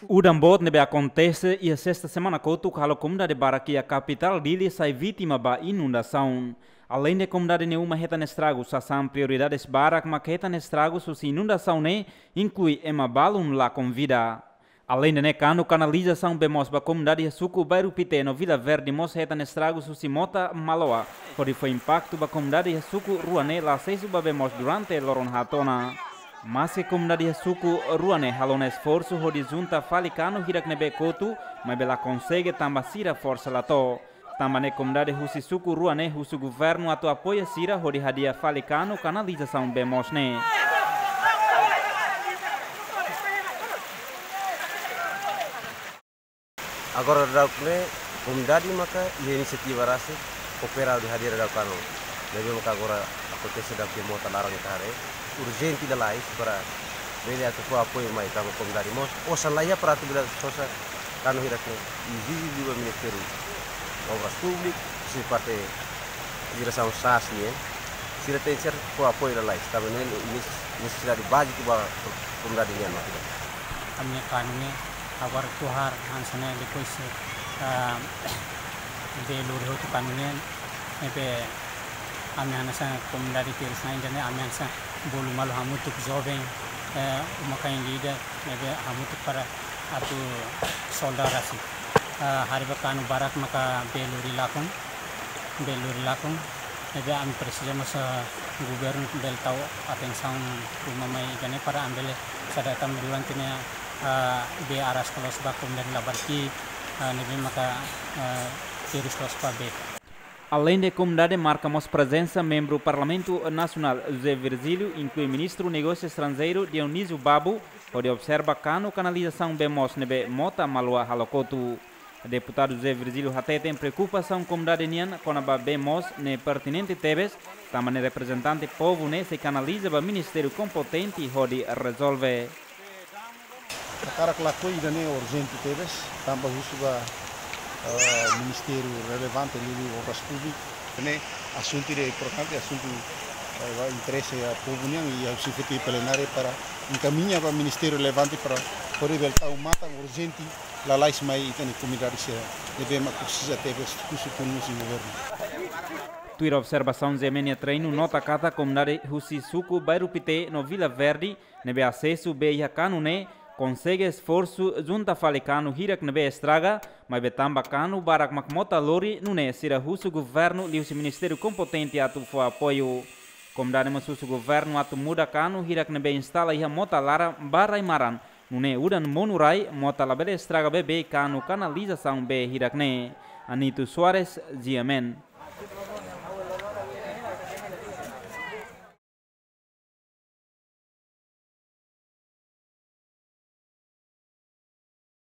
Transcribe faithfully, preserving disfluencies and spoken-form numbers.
Udan boot ne'ebé akontese iha sesta semana kotuk halo komunidade barak iha kapitál Dili sai vítima ba inundasaun. Aleinde komunidade nia uma hetan estragu, sasán prioridades barak mak hetan estragu husi inundasaun ne'e, inklui ema balun lakon vida. Aleinde ne'e, kanu kanalizasaun bee moos ba komunidade iha suku Bairru Pité no Vila Verde mós hetan estragu husi mota maloa, hodi fó impaktu ba komunidade iha suku rua ne'e la asesu ba bee moos durante loron haat ona. Maske komunidade iha suku rua ne'e halo ona esforsu hodi junta fali kanu hirak ne'ebé kotu, maibé la konsege tanba sira forsa la to'o. Tanba ne'e komunidade husi suku rua ne'e husu governu atu apoia sira hodi hadi'a fali kanu kanalizasaun bee moos ne'e. Agora daudaun ne'e komunidade maka iha inisiativa rasik koopera hodi hadi'a daudaun kanu. Ne'ebé maka agora akontese daudaun mota laran ita haree. Urjente lalais para bele atu fó apoiu mai tanba komunidade mós osan laiha para atu bele sosa kanu hirak ne'e. Ezije liu ba Ministériu Obras Públikas, husi parte diresaun sas nian, sira tenke ser fó apoiu lalais. Tanba ne'e neses-, nesesidade báziku ba komunidade nian maka ida. Ami-nia kanu ne'e agora tohar hanesan ne'e, depois, ah, bee lori hotu kanu ne'e, ne'ebé ami hanesan komunidade terus na ida ne'e, ami hanesan bolu malu hamutuk joven, eh, uma-kain ida, ne'ebé hamutuk para atu solda rasik. Ah, haree ba kanu barak maka bee lori lakon, bee lori lakon. Ne'ebé ami presiza mós, ah, governu bele tau atensaun ruma mai ida ne'e para ami bele sadar tanba durante ne'e, ah, bee araska loos ba komunidade Labarki, ah, ne'ebé maka, ah, terus loos ba bee. Aleinde komunidade marka mós prezensa membru Parlamentu Nasionál José Virgílio, inklui Ministru Negósiu Estranjeiru Dionísio Babo, hodi observa kanu kanalizasaun bee moos ne'ebé mota maloa halo kotu. Deputadu José Virgílio hateten preokupasaun komunidade nian kona-ba bee moos ne'e pertinente tebes, tanba ne'e reprezentante povu ne'e sei kanaliza ba ministériu kompetente hodi rezolve. Hakarak lakohi ida ne'e urjente tebes, tanba husu ba, eh, ministériu relevante liuliu Obras Públikas. Ne'e asuntu ida importante, asuntu, eh, ba interese ba povu nian, i husu feti plenária para enkamiña ba ministériu relevante para hodi bele tau matan urjente lalais mai ita-nia komunidade sira ne'ebé mak presiza tebes husu tun husi governu. Tuir observasaun G M N nia treinu nota katak komunidade husi suku Bairru Pité no Vila Verde ne'ebé asesu bee iha kanu ne'e, konsege esforsu junta fali kanu hirak ne'ebé estraga, maibé tanba kanu barak mak mota lori nune'e sira husu governu liuhusi ministériu kompetente atu fó apoiu. Komunidade mós husu governu atu muda kanu hirak ne'ebé instala iha mota laran ba rai-maran, nune'e udan monu rai, mota labele estraga beibeik kanu kanalizasaun bee hirak ne'e. Anito Soares, G M N.